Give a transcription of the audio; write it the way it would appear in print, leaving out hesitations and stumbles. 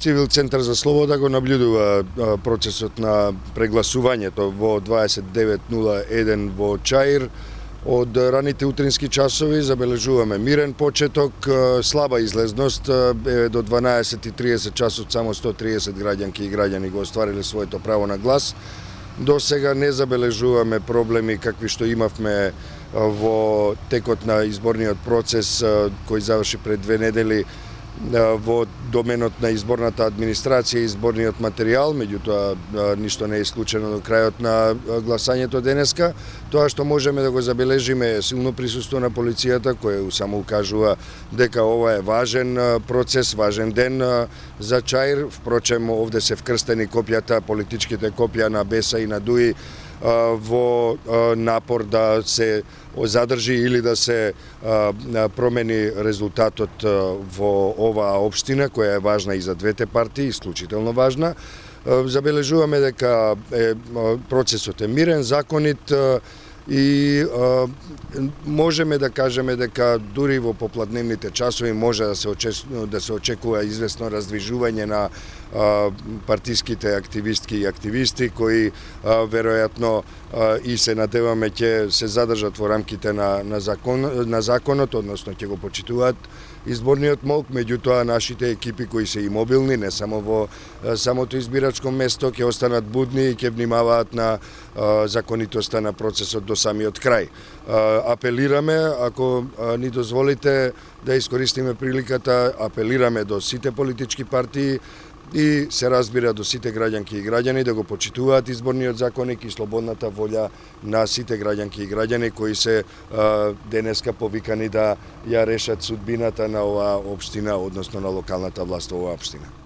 Цивил Центар за слобода го наблюдува процесот на прегласувањето во 29:01 во Чаир. Од раните утрински часови забележуваме мирен почеток, слаба излезност, до 12:30 часот само 130 граѓанки и граѓани го оствариле своето право на глас. До сега не забележуваме проблеми какви што имавме во текот на изборниот процес кој заврши пред 2 недели во доменот на изборната администрација и изборниот материјал, меѓутоа ништо не е случено до крајот на гласањето денеска. Тоа што можеме да го забележиме е силно присуство на полицијата, кој само укажува дека ова е важен процес, важен ден за Чаир. Впрочем, овде се вкрстени копијата, политичките копија на Беса и на ДУИ во напор да се задржи или да се промени резултатот во оваа општина, која е важна и за двете партии, исклучително важна. Забележуваме дека процесот е мирен, законит и можеме да кажеме дека дури во попладневните часови може да се очекува известно раздвижување на партиските активистки и активисти кои веројатно и се надеваме ќе се задржат во рамките на законот, односно ќе го почитуваат изборниот молк, меѓутоа нашите екипи кои се и мобилни, не само во самото избирачко место, ќе останат будни и ќе внимаваат на законитоста на процесот до самиот крај. Апелираме, ако ни дозволите да искористиме приликата, апелираме до сите политички партии и се разбира до сите граѓанки и граѓани да го почитуваат изборниот законник и слободната волја на сите граѓанки и граѓани кои се денеска повикани да ја решат судбината на оваа општина, односно на локалната власт во оваа општина.